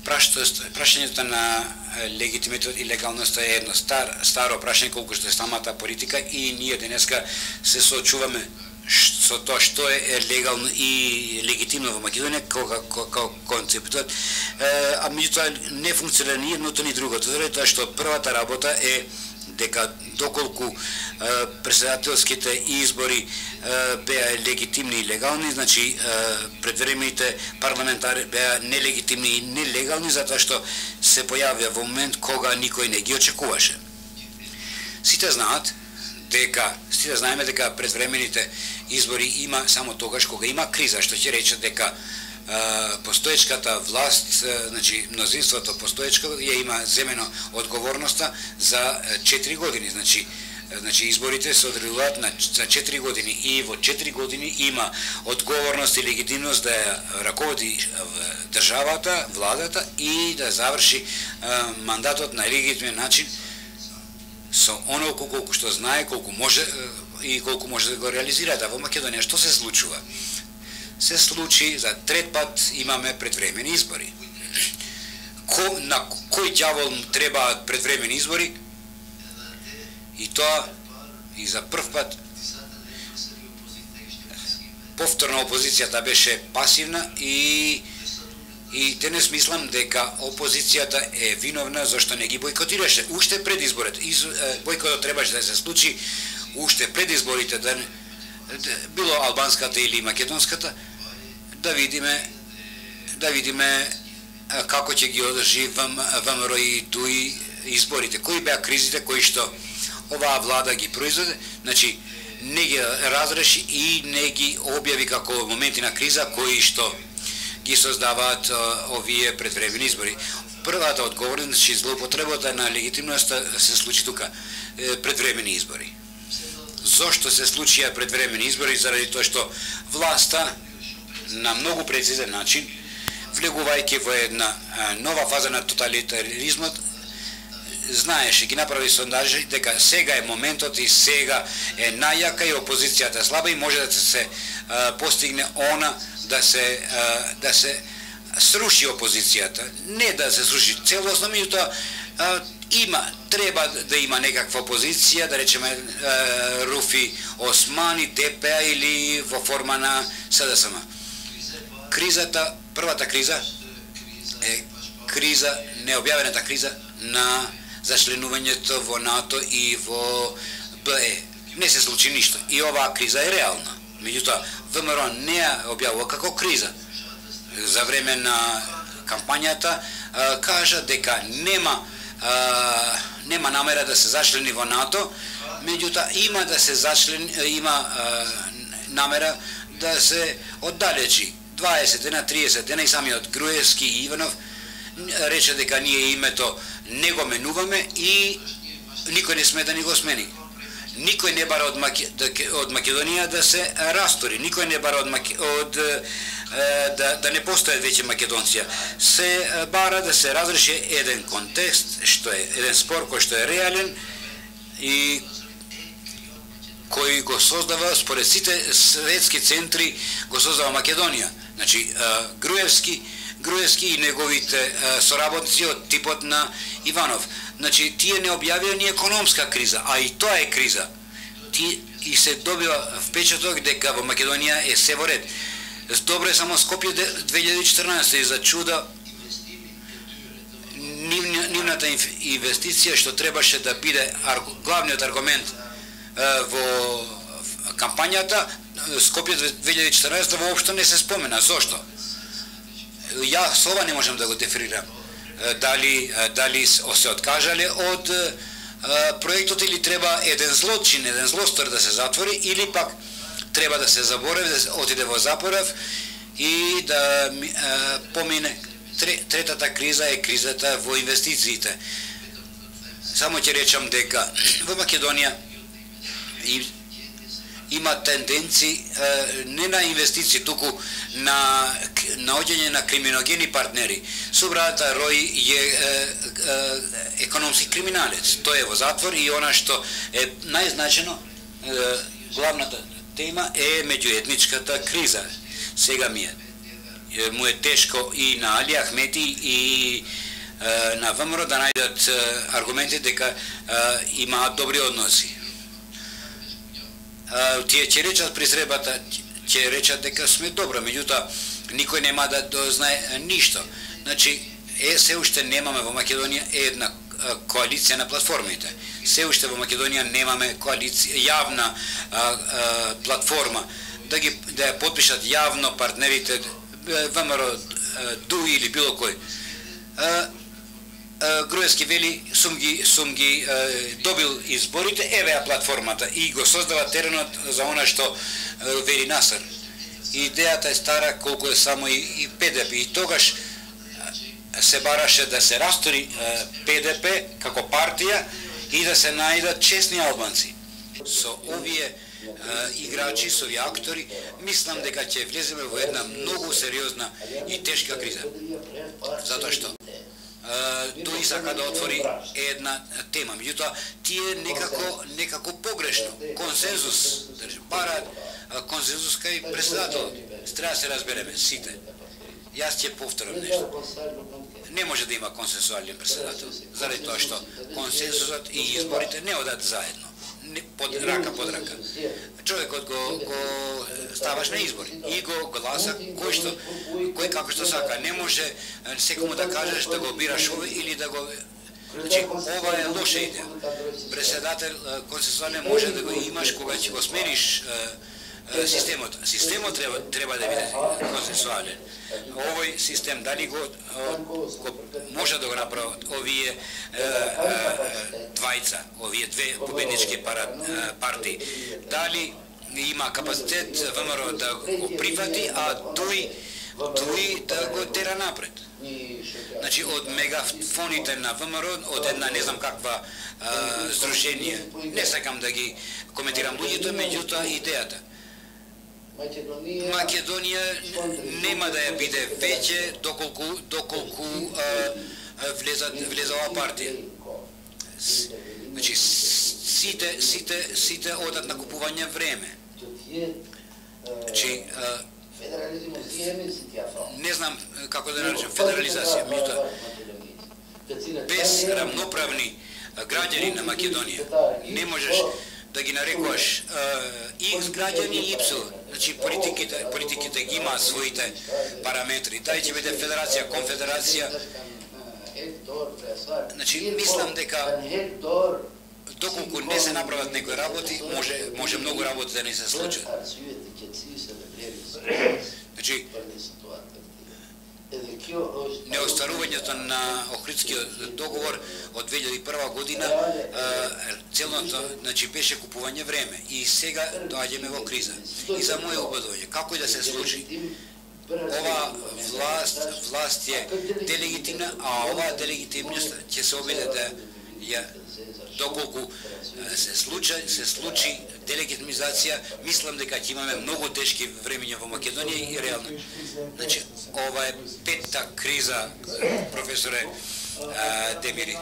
прашањето на легитимитет и легалноста е едно старо прашање колку што е самата политика и ние денеска се соочуваме со тоа што е легално и легитимно во Македонија како концептот, а меѓутоа не функционира ни едното ни другото, заради тоа што првата работа е дека доколку претседателските избори беа легитимни и легални, значи предвремените парламентари беа нелегитимни и нелегални затоа што се појавија во момент кога никој не ги очекуваше. Сите знаеме дека предвремените избори има само тогаш кога има криза, што ќе рече дека постоечката власт, значи мнозинството постоечко ја има земено одговорноста за 4 години, значи изборите се одредуваат за 4 години и во 4 години има одговорност и легитимност да ја раководи државата, владата и да заврши мандатот на легитимен начин со онолку колку што знае, колку може и колку може да го реализира. Во Македонија што се случува? Се случи за трет пат имаме предвремени избори. На кој ѓавол требаат предвремени избори? И тоа и за прв пат повторно опозицијата беше пасивна и денес мислам дека опозицијата е виновна зашто не ги бойкотираше уште пред изборите. Бойкотот требаше да се случи уште пред изборите, да било албанската или македонската, да видиме како ќе ги одржи ВМРО и ДУИ изборите. Кои беа кризите кои што оваа влада ги произведе, значи не ги разреши и не ги објави како моменти на криза кои што ги создаваат овие предвремени избори. Првата одговорност, значи злоупотребата на легитимноста се случи тука, предвремени избори. Зошто се случија предвремени избори? Заради тоа што власта на многу прецизен начин, влегувајќи во една нова фаза на тоталитаризмот, знаеше, ги направи сондажи дека сега е моментот и сега е најака и опозицијата слаба и може да се постигне да се сруши опозицијата, не да се сруши целосно, меѓутоа треба да има некаква опозиција, да речеме Руфи Османи, ДПА или во форма на СДСМ. Првата криза е необјавената криза на зачленувањето во НАТО и во БЕ. Не се случи ништо и оваа криза е реална. Меѓутоа, ВМРО не ја објавува како криза. За време на кампањата кажа дека нема намера да се зачлени во НАТО, меѓутоа има намера да се оддалечи. 20 дена, 30 дена и самиот Груевски и Иванов рече дека ние името не го менуваме и никој не сме да ни го смени. Никој не бара од Македонија да се растори, никој не бара да не постојат веќе Македонција. Се бара да се разреши еден контекст, еден спор кој што е реален и кој го создава според сите светски центри, го создава Македонија. Значи Груевски и неговите соработници од типот на Иванов. Значи тие не објавија ни економска криза, а и тоа е криза. И се добива впечаток дека во Македонија е се во ред. Добро е само Скопје 2014 и за чуда нивната инвестиција што требаше да биде главниот аргумент во кампањата, Скопје 2014 воопшто не се спомена. Зошто? Јас ова не можам да го дефинирам. Дали се откажале од проектот или треба еден злочин, еден злостор да се затвори или пак треба да се заборави, да отиде во запорав и да помине. Третата криза е кризата во инвестициите. Само ќе речам дека во Македонија има тенденции не на инвестиции, туку на наоѓање на криминогени партнери. Субрата Рој е економски криминалец. Тој е во затвор и она што е најзначено, главната тема е меѓуетничката криза. Сега ми е му е тешко и на Али Ахмети и на ВМРО да најдат аргументи дека имаат добри односи. Тие ќе речат при сребата, ќе речат дека сме добро, меѓутоа никој нема да дознае ништо. Значи, се уште немаме во Македонија една коалиција на платформите. Се уште во Македонија немаме коалиција, јавна платформа да ја потпишат јавно партнерите ВМРО, ДУ или било кој. Груевски вели, сум ги добил изборите, еве ја платформата и го создава теренот за она што вели Насар. Идејата е стара колку е само и ПДП и тогаш се бараше да се растори ПДП како партија и да се најдат честни албанци. Со овие играчи, со овие актори, мислам дека ќе влеземе во една многу сериозна и тешка криза. Затоа што тој сака да отвори една тема, меѓутоа тие некако погрешно, консензус, бараат консензус кај председателот. Треба да се разбереме сите. Јас ќе повторам нешто. Не може да има консенсуален председател, заради тоа што консенсусот и изборите не одат заедно, рака под рака. Човекот го ставаш на избори и го гласа кој како што сака. Не може секому да кажеш да го бираш овој или да го... Значи, ова е лоша идеја. Председател консенсуален може да го имаш кога ќе го смениш системот. Системот треба да биде консенсуален. Овој систем дали го може да го направат овие двајца, овие две победнички партии. Дали има капацитет ВМРО да го прифати, а тој да го тера напред. Значи, од мегафоните на ВМРО, од една не знам каква здружение, не сакам да ги коментирам луѓето, меѓутоа идејата. Македонија нема да ја биде веќе доколку влезе оваа партија. Значи, сите одат на купување време. Значи, не знам како да наречам федерализација, меѓутоа без рамноправни граѓани на Македонија не можеш да ги нарекуваш X граѓани и Y. Значи политиките ги имаат своите параметри. Дали ќе биде федерација, конфедерација. Значи мислам дека доколку не се направат некои работи, може многу работи да не се случат. Значи неостварувањето на Охридскиот договор од 2001 година целното, значи, беше купување време и сега доаѓаме во криза. И за моје убедување, како и да се случи, ова власт е делегитимна, а оваа делегитимност ќе се обиде да ја доколку се случи делегитимизација, мислам дека ќе имаме многу тешки времиња во Македонија и реално. Значи, ова е петта криза, професоре Демири.